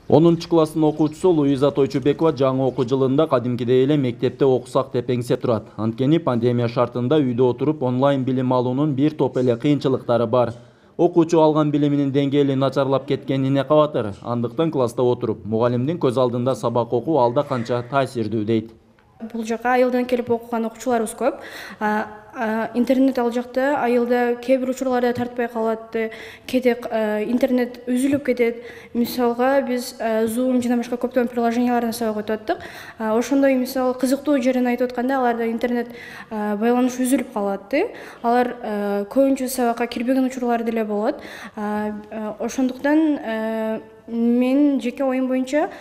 10 класстын окуучусу Луиза Тойчубекова жаңы окуу жылында кадимкидей эле мектепте окусак деп эңсеп турат. Анткени пандемия шартында үйдө отуруп онлайн билим алуунун бир топ эле кыйынчылыктары бар. Окуучу алган билиминин деңгээли начарлап кеткенине кабатыр. Андыктан класста отуруп, мугалимдин көз алдында сабак окуу алда канча таасирдүү дейт. Бул жака айылдан келип окуган окуучуларыбыз көп. Интернет ал жакта айылда кээ бир учурларда тартпай калат, кээде интернет үзүлүп кетет. Мисалга биз Zoom жана башка көптөгөн приложениялардан сабак өтүп аттык. Ошондой мисалы кызыктуу жерин айтып атканда аларда интернет байланыш үзүлүп калат. Алар көбүнчө сабакка кирбеген учурлар деле болот. Ошондуктан мен жеке оюм боюнча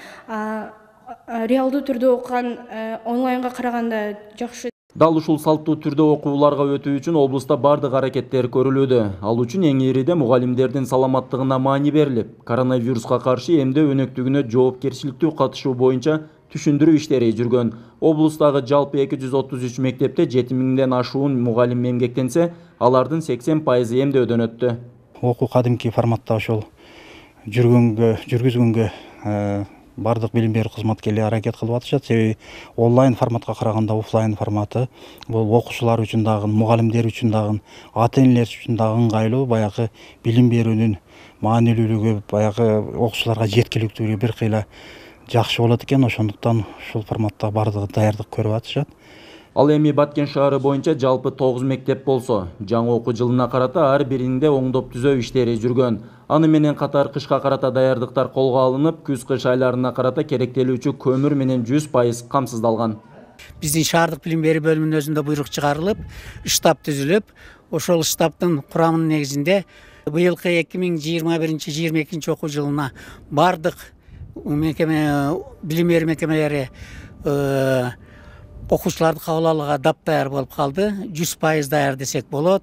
реалдуу түрдө окуган онлайнга караганда жакшы. Дал ушул салттуу түрдө окууларга өтүү үчүн облуста бардык аракеттер көрүлүүдө. Ал үчүн эң ириде мугалимдердин саламаттыгына маани берилип, коронавируска каршы эмдөө өнөктүгүнө жоопкерчиликтүү катышуу боюнча түшүндүрүү иштери жүргөн. Облустагы жалпы 233 мектепте 7000ден ашуун мугалим эмгектенсе, алардын 80% эмдөөдөн өттү. Окуу кадимки форматта ошол жүргүзгөнгө бардык билим берүү кызматкерлери аракет кылып атышат. Себеби онлайн форматка караганда офлайн форматы бул окуучулар үчүн дагы, мугалимдер үчүн дагы, ата-энелер үчүн дагы ыңгайлуу, баягы билим берүүнүн маанилүүлүгү, баягы окуучуларга жеткиликтүүлүгү бир кыйла жакшы болот экен. Ошондуктан ушул форматта бардыгы даярдык көрүп атышат. Ал эми Баткен шаары боюнча жалпы 9 мектеп болсо, жаңы окуу жылына карата ар биринде оңдоп түзөө иштери жүргөн. Аны менен катар кышка карата даярдыктар колго алынып, күз-кыш айларына карата керектелүүчү көмүр менен 100% камсыздалган. Биздин шаардык билим берүү бөлүмүнүн өзүндө буйрук чыгарылып, штаб түзүлүп, ошол штабтын курамынын негизинде быйылкы 2021-2022 окуу жылына бардык билим берүү мекемелери окуучуларды кабыл алууга даяр болуп калды. 100% даяр десек болот.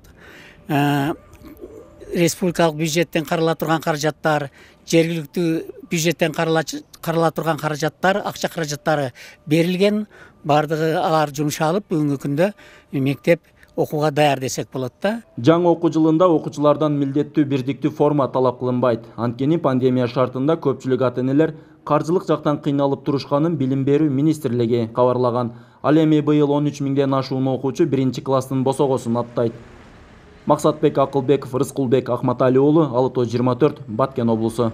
Республикалык бюджеттен карала турган каражаттар, жергиликтүү бюджеттен карала турган каражаттар, акча каражаттары берилген. Бардыгы алар жумшалып, бүгүнкү күндө мектеп окууга даяр десек болот да. Жаңы окуу жылында окуучулардан милдеттүү бирдиктүү форма талап кылынбайт. Анткени пандемия шартында көпчүлүк ата-энелер каржылык жактан кыйналып турушканын билим берүү министрлиги кабарлаган. Ал эми быйыл 13.000ден ашуун окуучу 1-класстын босогосун аттайт. Максатбек Акылбеков, Рыскулбек Акматали уулу, Ала Тоо 24, Баткен облусу.